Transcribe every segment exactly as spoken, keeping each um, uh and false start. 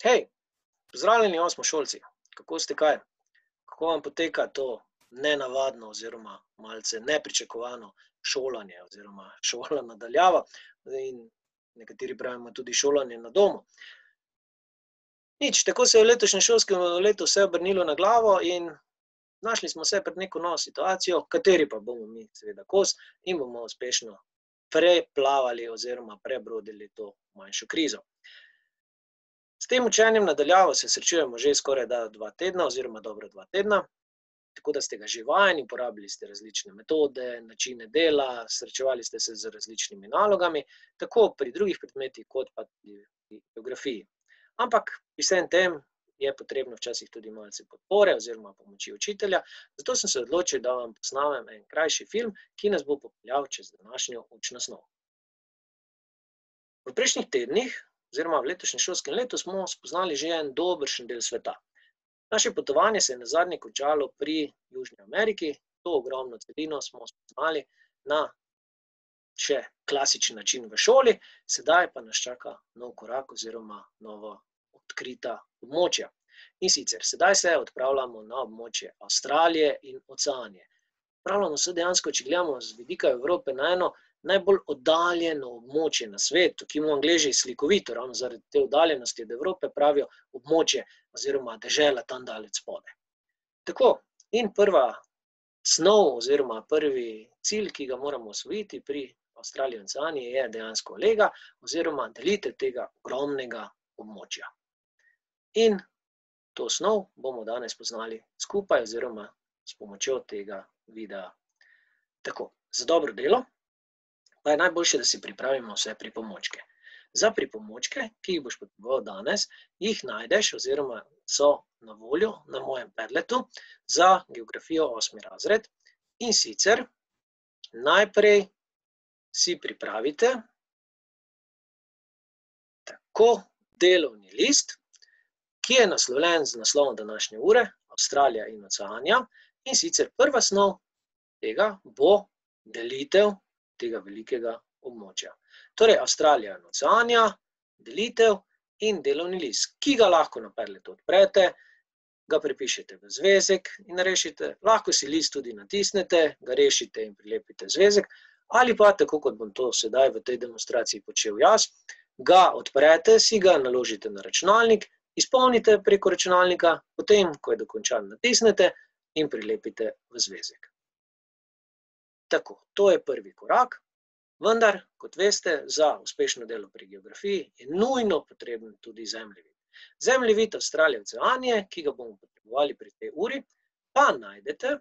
Hej, pozdravljeni osmošolci. Kako ste kaj? Kako vam poteka to nenavadno oziroma malce nepričakovano šolanje oziroma šola na daljavo in nekateri pravimo tudi šolanje na domu? Nič, tako se je v letošnjem šolskem letu vse obrnilo na glavo in našli smo se pred neko novo situacijo, kateri pa bomo mi seveda kos in bomo uspešno preplavali oziroma prebrodili to manjšo krizo. S tem učenjem na daljavo se srečujemo že skorajda dva tedna oziroma dobra dva tedna, tako da ste ga že vajeni, uporabili ste različne metode, načine dela, srečevali ste se z različnimi nalogami, tako pri drugih predmetih kot pa tudi pri geografiji. Ampak pri vsem tem je potrebno včasih tudi malce podpore oziroma pomoči učitelja, zato sem se odločil, da vam posnamem en krajši film, ki nas bo popeljal čez današnjo učno snov. V prejšnjih tednih oziroma v letošnjem šolskem letu smo spoznali že en dobršen del sveta. Naše potovanje se je nazadnje končalo pri Južni Ameriki, to ogromno celino smo spoznali na še klasičen način v šoli, sedaj pa nas čaka nov korak oziroma novo odkrita območja. In sicer, sedaj se odpravljamo na območje Avstralije in Oceanije. Odpravljamo se dejansko, če gledamo z vidika Evrope, na eno najbolj oddaljeno območje na svetu, ki mu Angleži slikovito, ravno zaradi te oddaljenosti od Evrope, pravijo območje oziroma dežela tam daleč spodaj. Tako, in prva snov oziroma prvi cilj, ki ga moramo osvojiti pri Avstraliji in Oceaniji, je dejansko lega oziroma delitev tega ogromnega območja. In to snov bomo danes poznali skupaj oziroma s pomočjo tega videa. Tako, za dobro delo pa je najboljše, da si pripravimo vse pripomočke. Za pripomočke, ki jih boš potreboval danes, jih najdeš oziroma so na voljo na mojem Padletu za geografijo osmi razred. In sicer najprej si pripravite tako delovni list, ki je naslovljen z naslovom današnje ure, Avstralija in Oceanija. In sicer prva snov tega bo delitev tega velikega območja. Torej, Avstralija in Oceanija, delitev in delovni list, ki ga lahko na Padletu odprete, ga prepišete v zvezek in rešite. Lahko si list tudi natisnete, ga rešite in prilepite v zvezek, ali pa, tako kot bom to sedaj v tej demonstraciji počel jaz, ga odprete, si ga naložite na računalnik, izpolnite preko računalnika, potem, ko je dokončan, natisnete in prilepite v zvezek. Tako, to je prvi korak, vendar, kot veste, za uspešno delo pri geografiji je nujno potreben tudi zemljevid. Zemljevid Avstralije in Oceanije, ki ga bomo potrebovali pri tej uri, pa najdete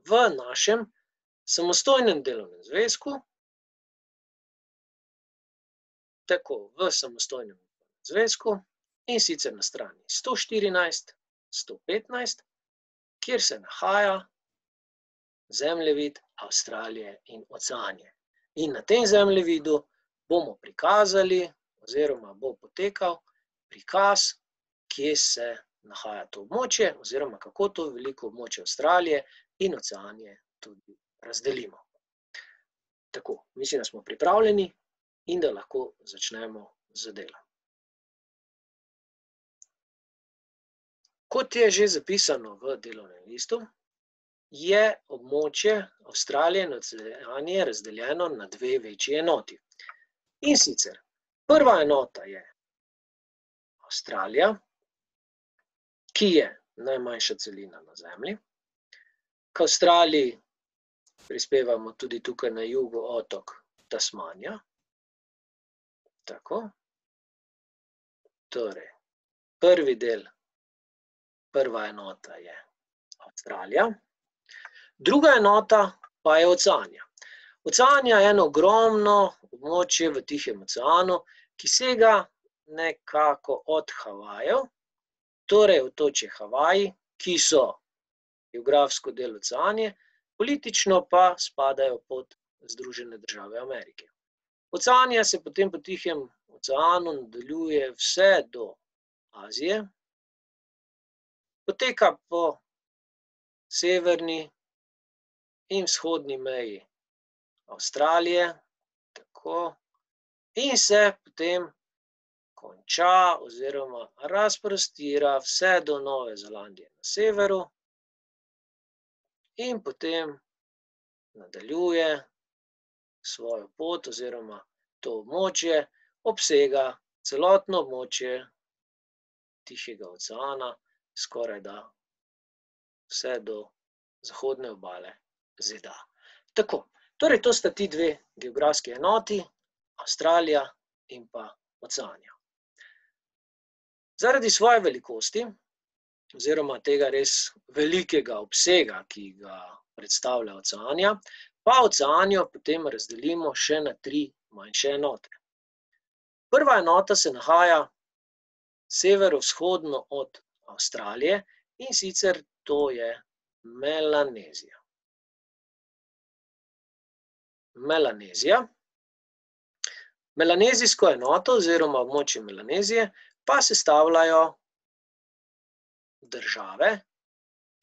v našem samostojnem delovnem zvezku, tako, v samostojnem zvezku, in sicer na strani sto štirinajst, sto petnajst, kjer se nahaja zemljevid Avstralije in Oceanije. In na tem zemljevidu bomo prikazali oziroma bo potekal prikaz, kje se nahaja to območje oziroma kako to veliko območje Avstralije in Oceanije tudi razdelimo. Tako, mislim, da smo pripravljeni in da lahko začnemo z delom. Kot je že zapisano v delovnem listu, je območje Avstralije in Oceanije razdeljeno na dve večji enoti. In sicer, prva enota je Avstralija, ki je najmanjša celina na Zemlji. K Avstraliji prispevamo tudi tukaj na jugu otok Tasmanija. Tako. Torej, prvi del, prva enota je Avstralija. Druga enota pa je Oceanija. Oceanija je eno ogromno območje v Tihem oceanu, ki sega nekako od Havajev, torej otočje Havaji, ki so geografsko del Oceanije, politično pa spadajo pod Združene države Amerike. Oceanija se potem po Tihem oceanu nadaljuje vse do Azije, poteka po severni in vzhodni meji Avstralije, tako, in se potem konča oziroma razprostira vse do Nove Zelandije na severu in potem nadaljuje svojo pot oziroma to območje, obsega celotno območje Tihega oceana, skorajda vse do zahodne obale Z D A. Tako, torej to sta ti dve geografski enoti, Avstralija in pa Oceanija. Zaradi svoje velikosti oziroma tega res velikega obsega, ki ga predstavlja Oceanija, pa Oceanijo potem razdelimo še na tri manjše enote. Prva enota se nahaja severovzhodno od Avstralije, in sicer to je Melanezija. Melanezija. Melanezijsko enoto oziroma območje Melanezije pa sestavljajo države,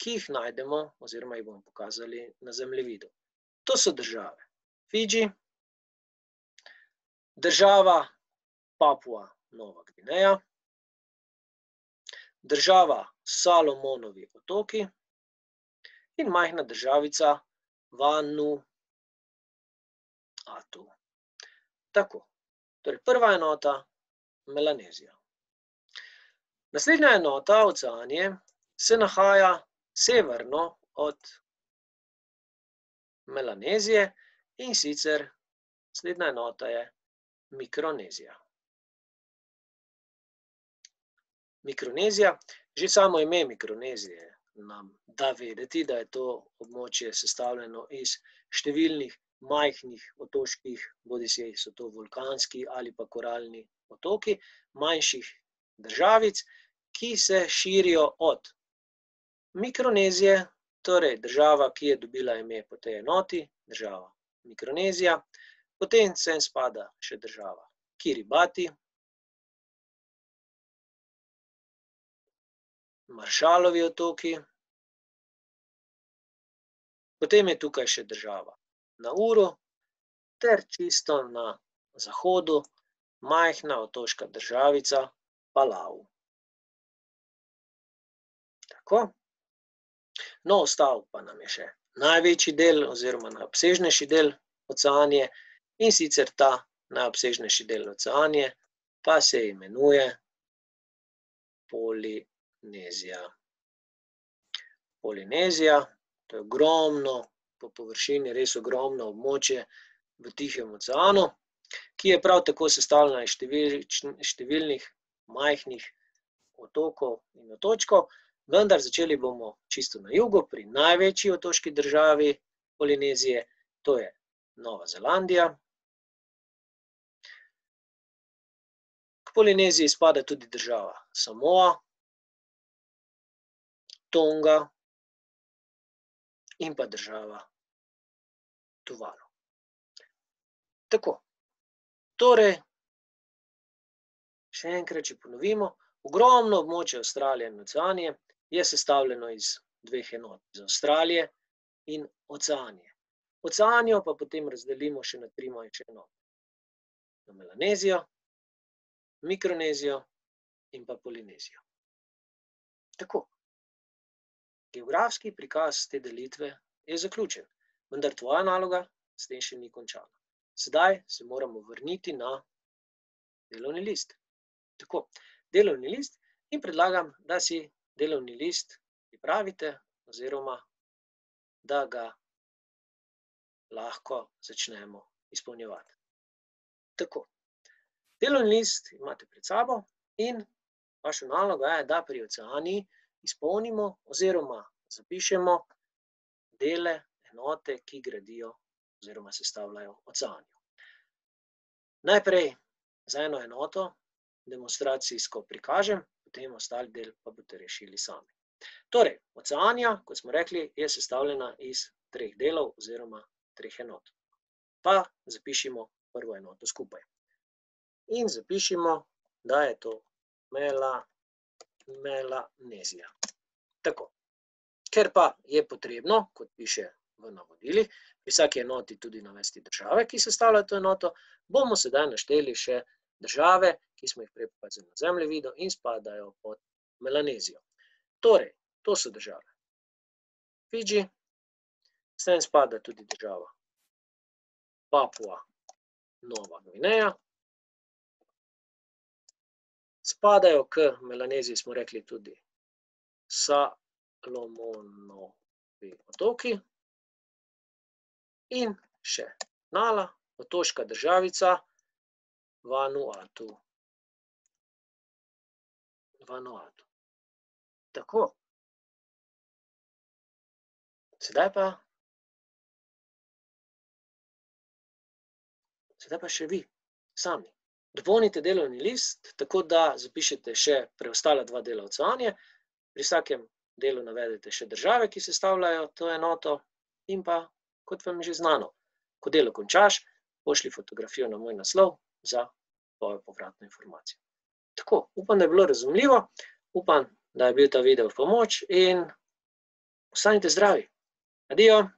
ki jih najdemo oziroma jih bomo pokazali na zemljevidu. To so države Fidži, država Papua Nova Gvineja, država Salomonovi otoki in majhna državica Vanuatu. Tako, torej prva enota Melanezija. Naslednja enota Oceanije se nahaja severno od Melanezije, in sicer naslednja enota je Mikronezija. Mikronezija, že samo ime Mikronezije nam da vedeti, da je to območje sestavljeno iz številnih majhnih otoških, bodisi so to vulkanski ali pa koralni otoki, manjših državic, ki se širijo od Mikronezije, torej država, ki je dobila ime po tej enoti, država Mikronezija, potem sem spada še država Kiribati, Maršalovi otoki, potem je tukaj še država Nauru ter čisto na zahodu majhna otoška državica Palau. Tako. No, ostal pa nam je še največji del oziroma najobsežnejši del Oceanije, in sicer ta najobsežnejši del Oceanije pa se imenuje Polinezija. Polinezija, to je ogromno, po površini res ogromno območje v Tihem oceanu, ki je prav tako sestavljena iz številnih majhnih otokov in otočkov, vendar začeli bomo čisto na jugu, pri največji otoški državi Polinezije, to je Nova Zelandija. K Polineziji spada tudi država Samoa, Tonga in pa država Tuvalu. Tako, torej, še enkrat, če ponovimo, ogromno območje Avstralije in Oceanije je sestavljeno iz dveh enot, iz Avstralije in Oceanije. Oceanijo pa potem razdelimo še na tri manjše enote. Na Melanezijo, Mikronezijo in pa Polinezijo. Tako. Geografski prikaz te delitve je zaključen, vendar tvoja naloga s tem še ni končana. Sedaj se moramo vrniti na delovni list. Tako, delovni list in predlagam, da si delovni list pripravite oziroma da ga lahko začnemo izpolnjevati. Tako, delovni list imate pred sabo in vaša naloga je, da pri Oceaniji izpolnimo oziroma zapišemo dele enote, ki gradijo oziroma sestavljajo Oceanijo. Najprej za eno enoto demonstracijsko prikažem, potem ostali del pa boste rešili sami. Torej, Oceanija, kot smo rekli, je sestavljena iz treh delov oziroma treh enot. Pa zapišimo prvo enoto skupaj. In zapišimo, da je to Mela Melanezija. Tako. Ker pa je potrebno, kot piše v navodilih, pri vsaki enoti tudi navesti države, ki sestavljajo to enoto, bomo sedaj našteli še države, ki smo jih prej pokazali na zemljevidu in spadajo pod Melanezijo. Torej, to so države. Fidži, sem spada tudi država Papua Nova Gvineja. Spadajo k Melaneziji, smo rekli, tudi Salomonovi otoki in še mala otoška državica Vanuatu. Vanuatu. Tako. Sedaj pa, sedaj pa še vi sami. Dopolnite delovni list, tako da zapišete še preostala dva dela odsevanja. Pri vsakem delu navedete še države, ki sestavljajo to enoto in pa, kot vam je že znano, ko delo končaš, pošlji fotografijo na moj naslov za tvojo povratno informacijo. Tako, upam, da je bilo razumljivo, upam, da je bil ta video v pomoč in ostanite zdravi. Adijo!